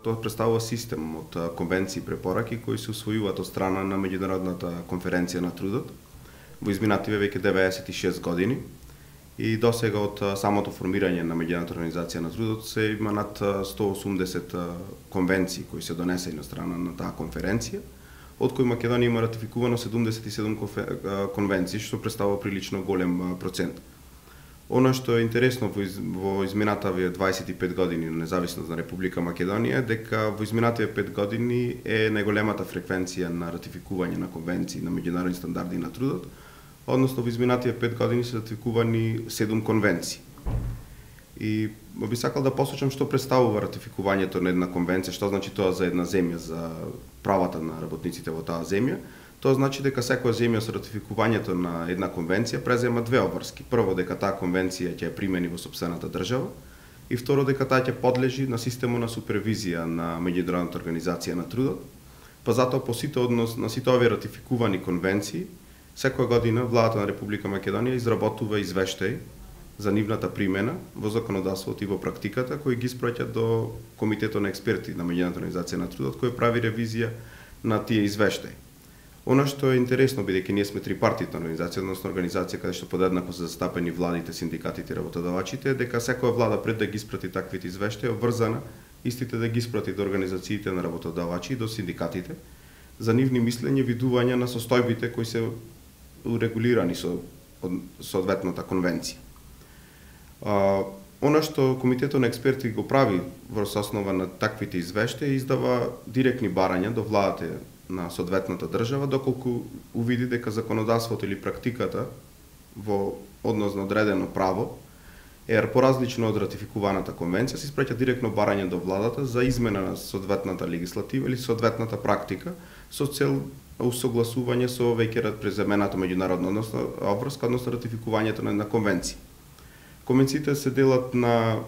Тоа представува систем од конвенции и препораки кои се усвојуваат од страна на Меѓународната конференција на трудот во изминативе веќе 96 години и досега од самото формирање на Меѓународната организација на трудот се има над 180 конвенции кои се донесени од страна на таа конференција, од кои Македонија има ратификувано 77 конвенции, што представува прилично голем процент. Оно што е интересно во изминативе 25 години на независност на Република Македонија е дека во изминативе 5 години е најголемата фреквенција на ратификување на конвенции на меѓународни стандарди на трудот, односно во изминативе 5 години се ратификувани 7 конвенции. И би сакал да посочам што представува ратификувањето на една конвенција, што значи тоа за една земја, за правата на работниците во таа земја. Тоа значи дека секоја земја со ратификувањето на една конвенција презема две обврски. Прво, дека таа конвенција ќе ја примени во сопствената држава, и второ, дека таа ќе подлежи на системот на супервизија на Меѓународната организација на трудот. Па затоа по сите на сите овие ратификувани конвенции, секоја година владата на Република Македонија изработува извештај за нивната примена во законодавството и во практиката, кои ги испраќа до Комитетот на експерти на Меѓународната организација на трудот, кој прави ревизија на тие извештаи. Оно што е интересно, бидејќи ние сме трипартитна организација, односно организација каде што подеднакво се застапени владите, синдикатите и работодавачите, дека секоја влада пред да ги испрати таквите извештаи е обврзана истите да ги испрати до организациите на работодавачи и до синдикатите за нивни мислење, видување на состојбите кои се урегулирани со соодветната конвенција. Оно што Комитетот на експерти го прави во основа на таквите извештаи, издава директни барања до владата на соодветната држава, доколку увиди дека законодавството или практиката во однос на одредено право е поразлично од ратификуваната конвенција, се испраќа директно барање до владата за измена на соодветната легислатива или соодветната практика со цел усогласување со веќе преземената меѓународна обврска, односно ратификувањето на една конвенција. Конвенциите се делат на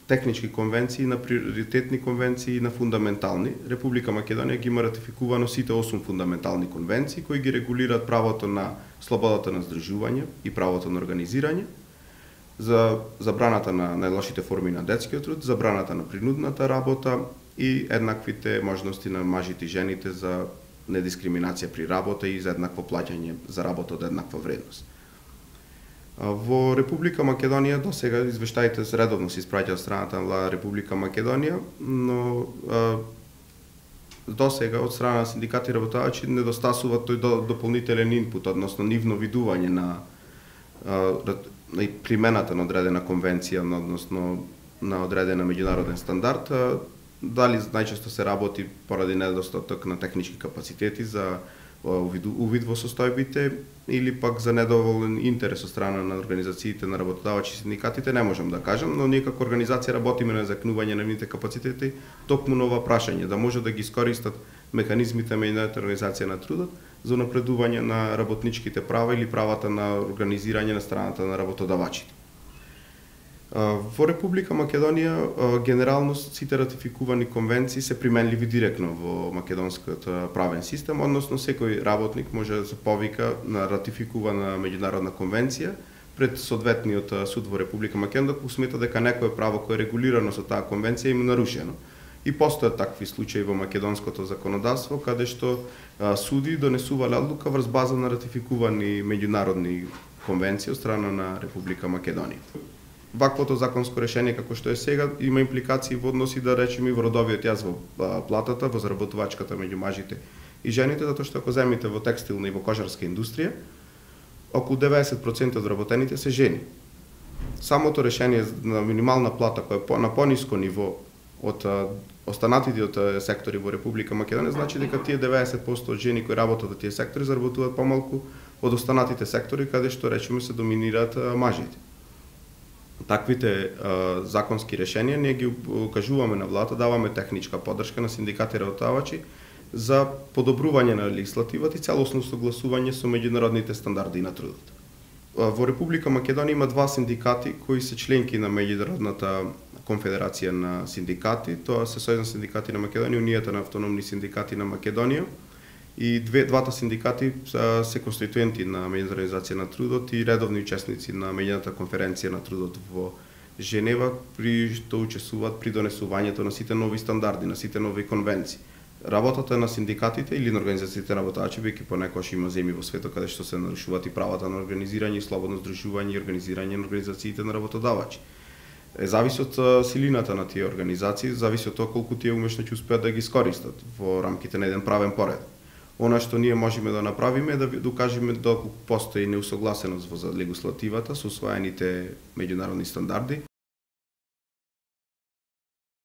технички конвенции, на приоритетни конвенции и на фундаментални. Република Македонија ги има ратификувано сите 8 фундаментални конвенции кои ги регулираат правото на слободата на здружување и правото на организирање, за забраната на најлошите форми на детскиот труд, забраната на принудната работа и еднаквите можности на мажите и жените за недискриминација при работа и за еднакво плаќање за работа од еднаква вредност. Во Република Македонија досега извештаите редовно се испраќаат од страната на Република Македонија, но досега од страна на синдикати и работодавачи недостасува тој дополнителен инпут, односно нивно видување на примената на одредена конвенција, односно на одредена меѓународен стандард, дали најчесто се работи поради недостаток на технички капацитети за увид во состојбите или пак за недоволен интерес од страна на организациите на работодавачи и синдикатите, не можам да кажам, но ние како организација работиме на закнување на нивните капацитети токму на ова прашање, да може да ги искористат механизмите на Меѓународната организација на трудот за напредување на работничките права или правата на организирање на страната на работодавачите. Во Република Македонија генерално сите ратификувани конвенции се применливи директно во македонскиот правен систем, односно секој работник може да се повика на ратификувана меѓународна конвенција пред соодветниот суд во Република Македонија, ако смета дека некое право кое е регулирано со таа конвенција им нарушено. И постојат такви случаи во македонското законодавство каде што суди донесувале одлука врз база на ратификувани меѓународни конвенции од страна на Република Македонија. Ваквото законско решение како што е сега има импликации во односи, да речеме, и во родовиот јаз во платата, во заработувачката меѓу мажите и жените, затоа што ако земите во текстилна и во кожарска индустрија, околу 90% од работените се жени. Самото решение на минимална плата која е на пониско ниво од останатите од сектори во Република Македонија, значи дека тие 90% од жени кои работат во тие сектори заработуваат помалку од останатите сектори каде што речеме се доминираат мажите. Таквите законски решенија ние ги укажуваме на владата, даваме техничка поддршка на синдикати и работодавачи за подобрување на легислативата и целосно согласување со меѓународните стандарди на трудот. Во Република Македонија има два синдикати кои се членки на Меѓународната конфедерација на синдикати, тоа се Сојуз на синдикати на Македонија, Унијата на автономни синдикати на Македонија, и двата синдикати се конституенти на Меѓународната организација на трудот и редовни учесници на Меѓународната конференција на трудот во Женева при што учествуваат при донесувањето на сите нови стандарди, на сите нови конвенции. Работата на синдикатите или на организациите работачи, бидејќи понекогаш има земји во светот каде што се нарушуваат и правата на организирање и слободно здружување и организирање на организациите на работодавачи. Зависи од силината на тие организации, зависи од тоа колку тие умешно ќе успеат да ги искористат во рамките на еден правен поред. Она што ние можеме да направиме е да докажеме доколку постои неусогласеност во легислативата со усвоените меѓународни стандарди,